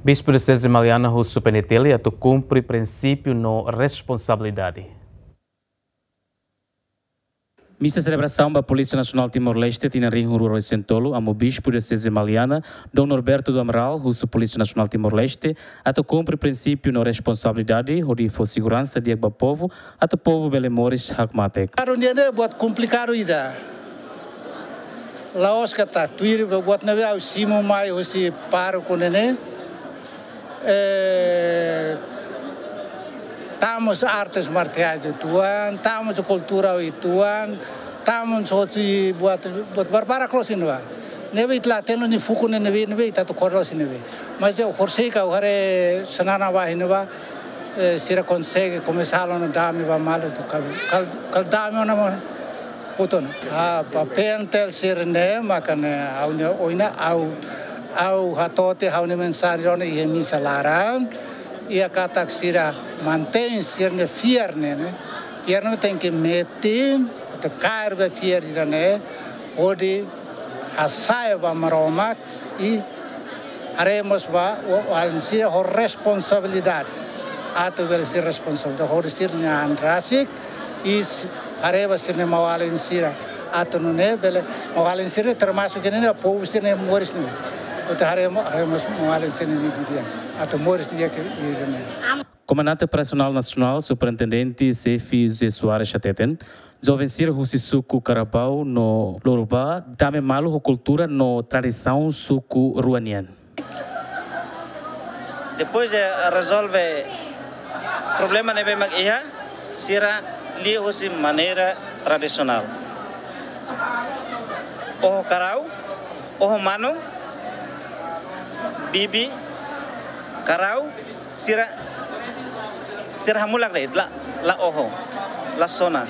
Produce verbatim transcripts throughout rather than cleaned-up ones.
Bispu Dioseze Maliana husu P N T L atu kumpre prinsípiu no responsabilidade. Misa selebrasaun ba Polísia Nasionál Timor-Leste tinan rihun rua ruanulu-resin-tolu, Amu Bispu Dioseze Maliana, Dom Norberto do Amaral, husu Polísia Nasionál Timor-Leste atu kumpre prinsípiu no responsabilidade hodi fó seguransa di'ak ba povu, atu povu bele moris hakmatek. Klaru, ne'e buat komplikadu ida. La'ós katak tuir buat ne'ebé ha'u simu mai husi pároku ne'e, eh, tama artes marsiais uitoan, tama kultura uitoan, tama hotu buat, buat barbarak loos iha ne'ebá. Ne'ebé ita la hatene nia fuku ne'ebé, ne'ebé ita atu kore loos iha ne'ebá. Mas ha'u horisehik ha'u haree Xanana ba iha ne'ebá, eh, sira konsege komesa halo ona dame ba malu atu kal, kal, kal dame ona mós. Hotu ona. Ah, ba P N T L sira-ne'e, maka ne'e ha'u-nia oinsá, ha'u, ha'u hato'o tiha ha'u-nia mensajen ona iha misa laran, iha katak sira mantein sira-nia fiar ne'e, ne'e. Fiar ne'e tenke metin, atu kaer ba fiar ida-ne'e, hodi hasa'e ba Maromak, i haree mós ba, o, alin sira ho responsabilidade. Atu bele sira responsabilidade, hodi sira-nia an rasik, i s-, haree ba sira-nia maun-alin sira. Atu nune'e bele, maun-alin sira termasuk ne'e, ne'e povu sira-nia moris ne'e. Atu haree mo-, haree mós maun-alin sira-nia di'ak. Atu moris di'ak iha ne'e. Komandante Operasionál Nasionál, Superintendente Xefe José Soares hateten, joven sira husi suku Karabau no Lorubá dame malu ho kultura no tradisaun suku rua nian. Depois de rezolve problema ne'ebé mak iha, sira lia husi maneira tradisionál. Oho karau, oho manu, bibi karau, sira, sira hamulak de'it, la, la oho, la sona.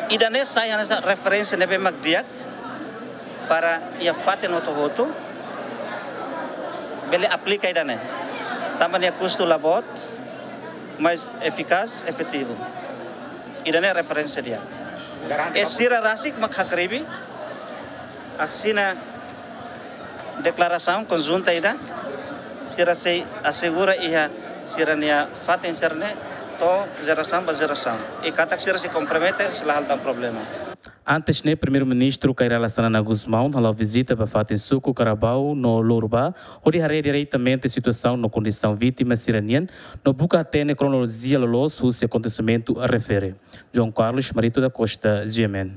Ida-ne'e sai hanesan referénsia ne'ebé mak di'ak para iha fatin hotu-hotu bele aplika ida-ne'e. Tanba nia kustu la boot, mais efikás, efetivu. Ida-ne'e referénsia di'ak. I sira rasik mak hakribi, asina deklarasaun konjunta ida, sira sei asegura iha sira-nia fatin sira-ne'e to'o jerasaun ba jerasaun. I katak sira sei kompromete, sei la hala'o tan problema. Antes ne'e, Primeiru-Ministru Kay Rala Xanana Gusmão hala'o vizita ba fatin suku Karabau no Lorubá, hodi haree diretamente situasaun no kondisaun vítima sira-nian, no buka hatene kronolojia loloos husi akontesimentu refere. João Carlos Marito da Costa, G M N.